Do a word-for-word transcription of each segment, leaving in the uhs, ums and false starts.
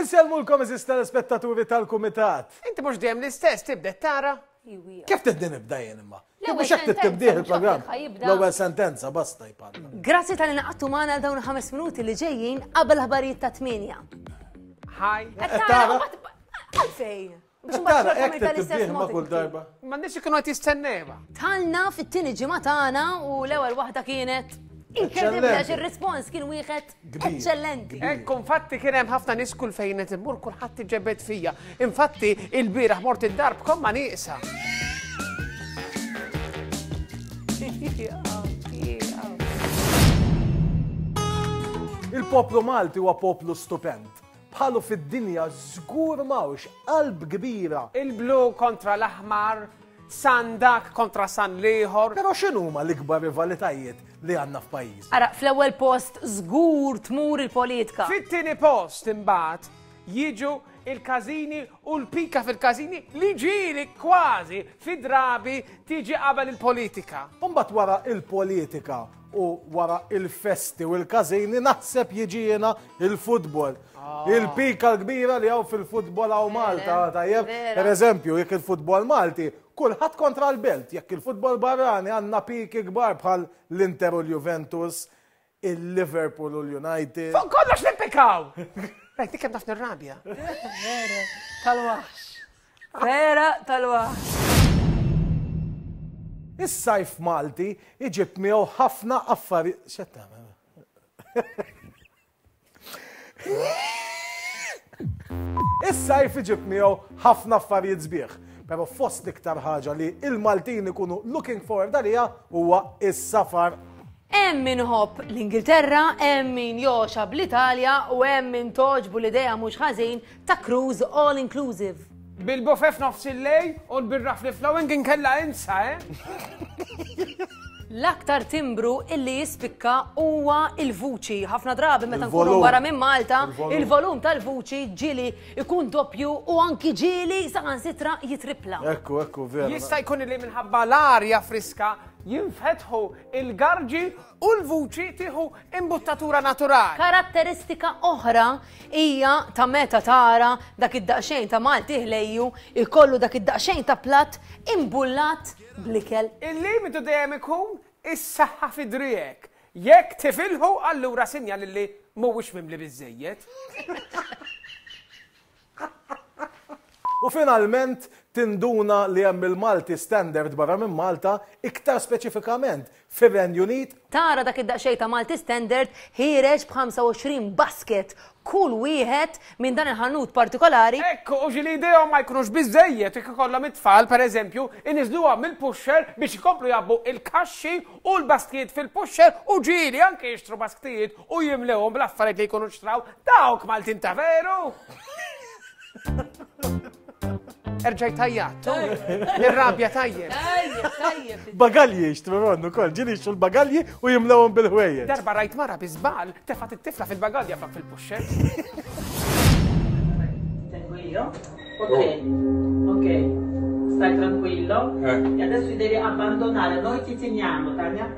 Insellmulkom, għeżież telespettaturi tal-Kumitat. Inti mhux dejjem l-istess tibda tara. Kif tibdi nibda jien imma? L-ewwel Mhux hekk sentenza, tibdih mhux il-programm. hekk ħa jibda. L-ewwel sentenza basta jpalla. Grazzi talli ngħaqadtu magħna għal dawn ħames minuti li ġejjin qabel ħbarijiet ta' tmienja. Hi. Qed tara? Għalfejn. Biex Tara, mbagħad hekk tal-istess tibdih ma mod kull inti. darba. Ma nix ikunu qed jistennewa. Tlajna fit-tieni ġimgħa tagħna u l-ewwel waħda kienet inkredibbli għax ir-rispons kien wieħed Kbir. eċċellenti. Ekku, infatti kien hemm ħafna nies kull fejn qed immur kulħadd iġebed fija. Infatti il-bieraħ mort id-dar b'komma nieqsa. Il-poplu Malti huwa poplu stupend. Bħalu fid-dinja żgur m'hawnx qalb kbira. Il-blu kontra l-aħmar, San dak kontra San l-ieħor. Però x'inhuma l-ikbar rivalitajiet li għandna f'pajjiż? Ara, fl-ewwel post żgur tmur il-politika. Fit-tieni post imbagħad jiġu il-każini u l-pika fil-każini li ġieli kważi fi drabi tiġi qabel il-politika. Mbagħad wara il-politika u wara il-festi u il-każini naħseb jiġi jiena il-futbol. Il-pika l-kbira li hawn fil-futbol hawn Malta, tajjeb. Vera. Per eżempju, jekk il-futbol Malti, kulħadd kontra l-Belt, jekk il-futbol barrani għandna piki kbar bħal l-Inter u l-Juventus, il-Liverpool u l-United. Fuq kollox nippikaw! Rajt, dik kemm naf nirrabja. Vera tal-waħx. Vera tal-waħx. Is-sajf Malti iġib miegħu ħafna affarijiet. X'qed tagħmel? Is-sajf iġib miegħu ħafna affarijiet sbieħ. Però fost l-iktar ħaġa li il-Maltin ikunu looking forward għalija huwa is-safar. Hemm min iħobb l-Ingilterra, hemm min jogħxa bl-Italja u hemm min togħġbu l-idea mhux ħażin ta' cruise all inclusive. Bil-buffet f'nofs il-lejl u l-birra free-flowing inkella insa, eh? L-aktar timbru illi jispikka huwa il-vuċi. Ħafna drabi meta nkunu Il-volum. barra minn Malta, Il-volum. il-volum tal-vuċi ġieli ikun doppju u anki ġieli saħansitra jitripla. Ekku, ekku, vera. Jista' jkun li minħabba l-arja friska jinfetħu il-garġi u l-vuċi tieħu imbuttatura naturali. Karatteristika oħra hija ta' meta tara dak id-daqsxejn ta' Malti ħlejju ikollu dak id-daqsxejn ta' platt imbullat bl-ikel. Il-limitu dejjem ikun is-saħħa fi driegħek. Jekk tifilħu allura sinjal li mhuwiex mimli biżejjed. U finalment tinduna li hemm il-Malti Standard barra minn Malta, iktar speċifikament fir-Renju Unit. Tara dak id-daqsxejn ta' Malti Standard ħiereġ b'ħamsa u għoxrin basket kull wieħed minn dan il-ħanut partikolari. Ekku, u ġieli idejhom ma jkunux biżejjed, jekk ikollhom it-tfal, pereżempju, iniżluha mill-pusher biex ikomplu jgħabbu il-kaxxi u l-basktijiet fil-pusher u ġieli anke jixtru basktijiet u jimlewhom bl-affarijiet li jkunu xtraw dawk Maltin ta' veru. Erġaj tajjat, nirrabja tajjeb. Tajjeb, tajjeb. Bagalji jixtru ronnu kol, ġieli jixtru l-bagalji u jimlewhom bil-ħwejjeġ. Darba rajt mara bi żball tefgħet it-tifla fil-bagalja flok fil-pusher. Tengo io? Ok, ok, stai tranquillo. Eh. E adesso ti devi abbandonare, noi ti teniamo, Tania.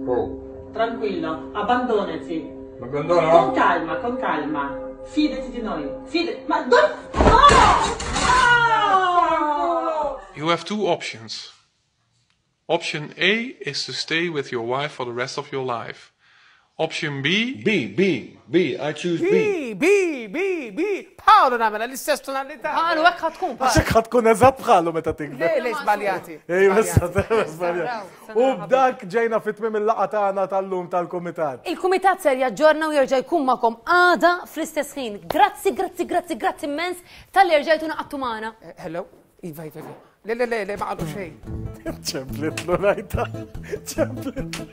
Oh, Tranquillo, abbandonati. mi abbandono? Con calma, con calma. Fidati di noi. Fidati. Ma dove? No! No! You have two options. Option A is to stay with your wife for the rest of your life. Option B, B, B, B. I choose B. B, B, B, B. Paolo nagħmel l-istess tonalità. Paolo, hekk ħa tkun, Paolo. Għax hekk ħa tkun eżatt bħalu meta tikber. Le, le, żbaljati. Ej, basta, Żbaljati. żbaljati. U b'dak ġejna fit-tmiem il-laqgħa tagħna tal-lum tal-kumitat. Il-kumitat ser jaġġorna u jerġa' jkun magħkom għada fl-istess ħin. Grazzi, grazzi, grazzi, grazzi immens talli rġajtu ngħaqadtu magħna. Eh, Hello? Iva, iva, iva. Le, le, le, le, ma qalu xejn. ċemplitlu rajta. Ċemplitlu.